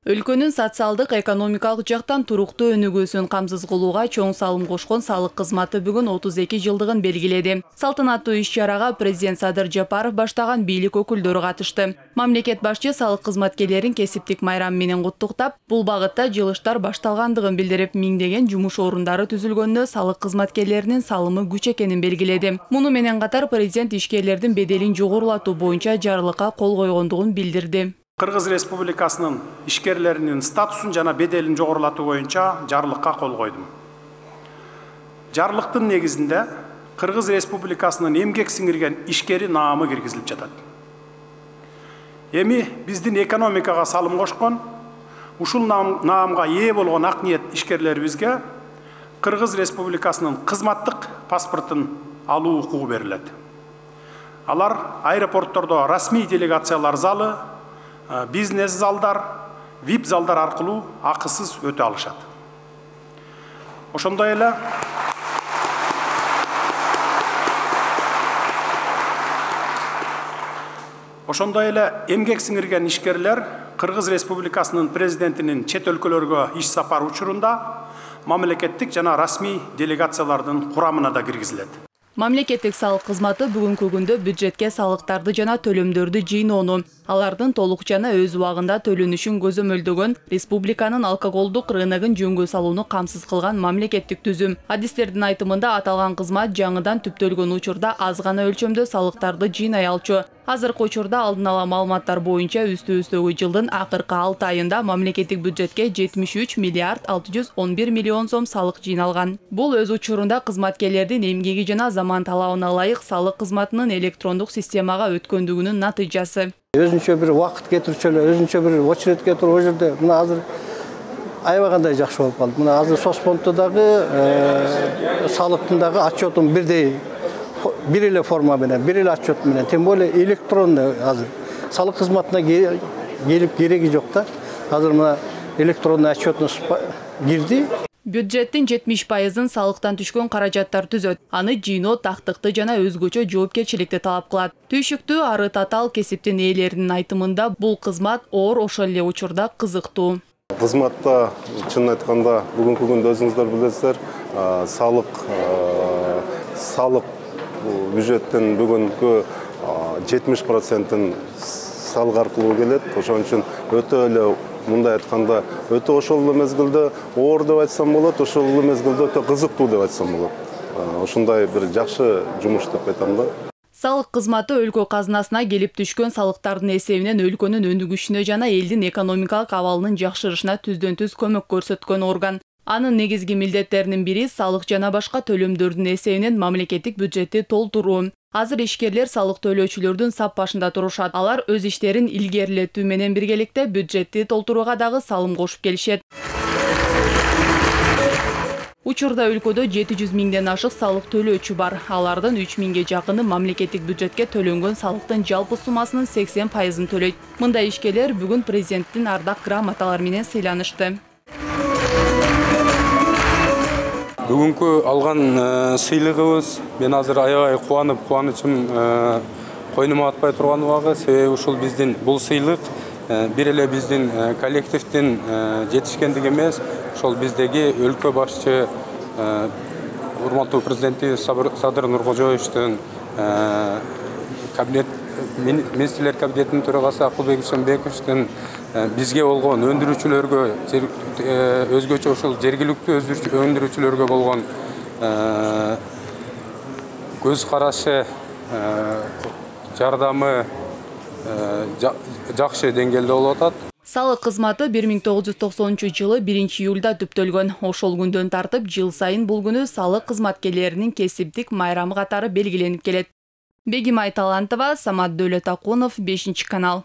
Өлкөнүн социалдык экономикалык жактан туруктуу өнүгүүсүн камсыз кылууга чоң салым кошкон салык кызматы бүгүн 32 жылдыгын белгиледи. Салтанаттуу иш-чарага президент Садыр Жапаров баштаган бийлик өкүлдөрү катышты. Мамлекет башчы салык кызматкерлерин кесиптик майрам менен куттуктап, бул багытта жылыштар башталгандыгын билдирип, миңдеген жумуш орундары түзүлгөндө салык кызматкерлеринин салымы күч экенин белгиледи. Муну менен катар президент ишкерлердин беделин жогорулатуу боюнча жарлыкка кол койгондугун билдирди. Кыргыз Республикасынын ишкерлеринин статусун жана беделин жогорулатуу боюнча жарлыкка кол койдум. Жарлыктын негизинде Кыргыз Республикасынын эмгек сиңирген ишкери наамы киргизилип жатат. Эми биздин экономикага салым кошкон, ушул наамга ээ болгон ак ниет ишкерлерибизге Кыргыз Республикасынын кызматтык паспортун алуу укугу берилет. Алар аэропорттордо расмий делегациялар залы, бизнес залдар, VIP залдар аркылуу акысыз өтө алышат. Ошондой эле эмгек сиңирген ишкерлер Кыргыз Республикасынын президентинин чет өлкөлөргө иш сапар учурунда мамлекеттик жана расмий делегациялардын курамына да киргизилет. Мамлекеттик салык кызматы бүгүнкү күндө бюджетке салыктарды жана төлөмдөрдү жыйноону, алардын толук жана өз убагында төлөнүшүн көзөмөлдөгөн республиканын алкоголдук рыногун жөнгө салууну камсыз кылган мамлекеттик түзүм. Адистердин айтымында аталган кызмат жаңыдан түптөлгөн учурда аз гана өлчөмдө салыктарды жыйнай алчу. Азыркы учурда алдын ала маалыматтар боюнча үстүбүздөгү жылдын акыркы 6 айында мамлекеттик бюджетке 73 миллиард 611 миллион сом салык жыйналган. Бул өз учурунда кызматкерлердин эмгеги жана заман талабына ылайык салык кызматынын электрондук системага өткөндүгүнүн натыйжасы. Өзүнчө бир убакыт кетирчү эле, өзүнчө бир очередке туруп о жерде мына азыр аябагандай жакшы болуп калды. Мына азыр Соцфонддо дагы салыктын дагы отчетун бирдей бир эле форма менен, бир эле отчет менен, тем более электронный азыр салык кызматына келип кереги жок да. Азыр мына электронный отчетуна кирди. Бюджеттин 70%-ын салыктан түшкөн каражаттар түзөт. Аны жыйноо тактыкты жана өзгөчө жоопкерчиликти талап кылат. Түйшүктүү ары татаал кесиптин ээлеринин айтымында бул кызмат оор ошол эле учурда кызыктуу. Кызматта чын айтканда бүгүнкү күндө өзүңүздөр билесиздер, салык бюджеттин бүгүнкү 70%-ын салык аркылуу келет. Ошон үчүн өтө эле мындай айтканда өтө ошол эле мезгилде оор деп айтсам болот, ошол эле мезгилде өтө кызыктуу деп айтсам болот. Ушундай бир жакшы жумуш деп айтам да. Салык кызматы өлкө казынасына келип түшкөн салыктардын эсебинен өлкөнүн өнүгүшүнө жана элдин экономикалык абалынын жакшырышына түздөн-түз көмөк көрсөткөн орган. Анын негизги милдеттеринин бири салык жана башка төлөмдөрдүн эсебинен мамлекеттик бюджетти толтуруу. Азыр ишкерлер салык төлөөчүлөрдүн сап башында турушат. Алар өз иштерин илгерилетүү менен биргеликте бюджетти толтурууга дагы салым кошуп келишет. Учурда өлкөдө 700 миңден ашык салык төлөөчү бар. Алардын 3 миңге жакыны мамлекеттик бюджетке төлөнгөн салыктын жалпы суммасынын 80%-ын төлөйт. Мындай ишкерлер бүгүн президенттин ардак грамоталары менен сыйланышты. Бүгүнкү алган сыйлыгыбыз мен азыр аябай кубанычым койнума атпай турган убагы, себеби ушул биздин бул сыйлык бир эле биздин коллективдин жетишкендиги эмес, ошол биздеги өлкө башчы урматтуу президенти Садыр Нуркожоевичтин министрлер кабинетинин төрагасы Акылбек Исенбековичтин бизге болгон өндүрүүчүлөргө өзгөчө ошол жергиликтүү өндүрүүчүлөргө болгон көз карашы, жардамы жакшы деңгээлде болуп атат. Салык кызматы 1990-жылы 1-июлда түптөлгөн. Ошол күндөн тартып жыл сайын бул күнү салык кызматкерлеринин кесиптик майрамы катары белгиленип келет. Бегимай Талантова, Самат Дөөлөтакунов, 5 канал.